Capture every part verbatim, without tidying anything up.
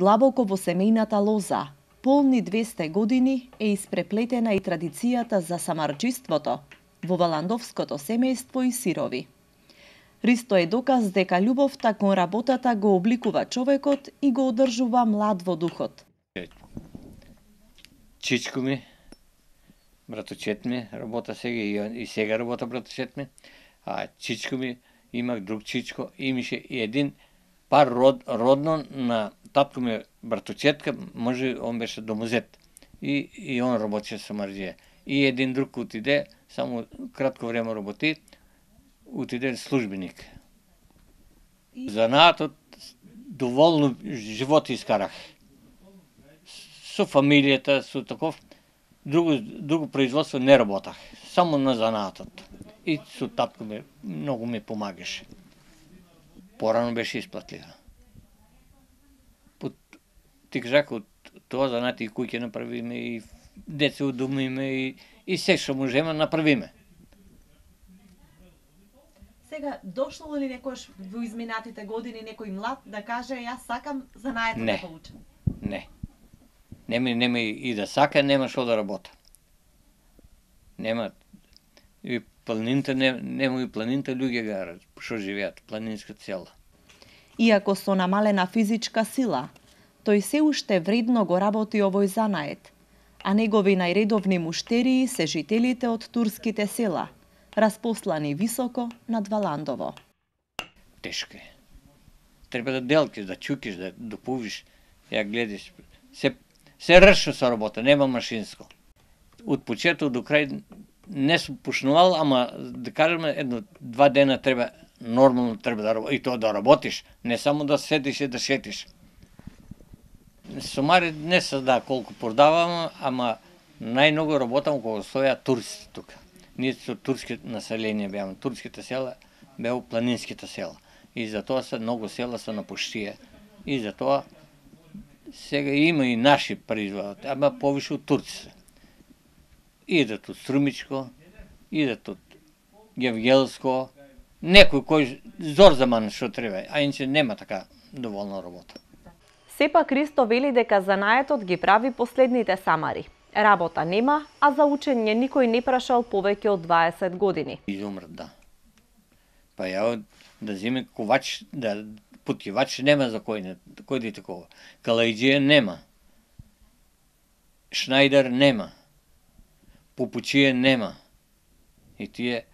Длабоко во семејната лоза, полни двесте години, е испреплетена и традицијата за самарџиството во валандовското семејство и сирови. Ристо е доказ дека љубовта кон работата го обликува човекот и го одржува млад во духот. Чичко ми, браточет ми, работа сега и сега работа браточет ми, а чичко ми, имах друг чичко, имаше и един пар род, родно на татко ми браточетка, може он беше домозет и, и он работеше самарџија. И един друг отиде, само кратко време работи, отиде службеник. Занаатот доволно живот искарах. Со фамилијата, со таков, друго, друго производство не работах, само на занаатот. И со татко ми многу ми помагаше. Порано беше исплатлива. Ти кажах, од тоа занати и куќе направиме, и деца удумиме, и, и се што можеме направиме. Сега, дошло ли некојаш во изминатите години некој млад да каже јас сакам занаето да поучам? Не. Нема, нема и да сака, нема што да работа. Нема. И планините, нема и планините луѓе га што живеат, планинска села. Иако со намалена физичка сила, тој се уште вредно го работи овој занает, а негови најредовни муштерии се жителите од турските села, распослани високо над Валандово. Тешко е. Треба да делкиш, да чукиш, да допувиш, ја гледаш. Се, се ршо со работа, нема машинско. Од почеток до крај не сум пушнувал, ама да кажеме едно два дена треба нормално треба да работиш, и тоа да работиш, не само да седиш и да шетиш. Сомари не се да колку продавам, ама најмногу работам кога стоја туристи тука. Ние со турски население беаме, турските села беа планинските села. И затоа се многу села се напуштија. И затоа сега има и наши производат, ама повише од турците. Идат од Струмичко, идат од Гевгелско, некој кој зор за ман што треба, а иначе нема така доволна работа. Сепак Ристо вели дека занаетот ги прави последните самари. Работа нема, а за учење никој не прашал повеќе од дваесет години. Изумрат, да. Па ја да земе ковач, да путевач нема за кој не, кој да такова. Калајџија нема. Шнајдер нема. Попучија нема. И тие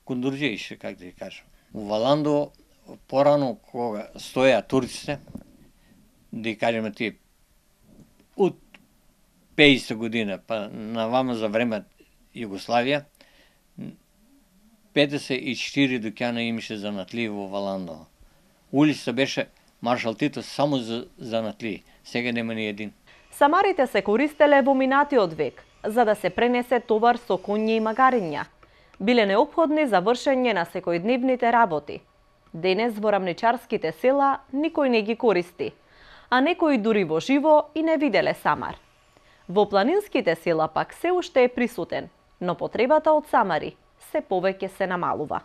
кондурџији, как да ја кажам. У Валандово порано кога стоја турците, да кажеме тие од пеесета година, па на вама за време Југославија, педесет и четири дуќана имаше занатли во Валандово. Улица беше Маршал Тито само за занатли, сега нема ни един. Самарите се користеле во минатиот век, за да се пренесе товар со коњи и магариња. Биле неопходни за вршење на секојдневните работи. Денес во рамничарските села никој не ги користи, а некои дури во живо и не виделе самар. Во планинските села пак се уште е присутен, но потребата од самари се повеќе се намалува.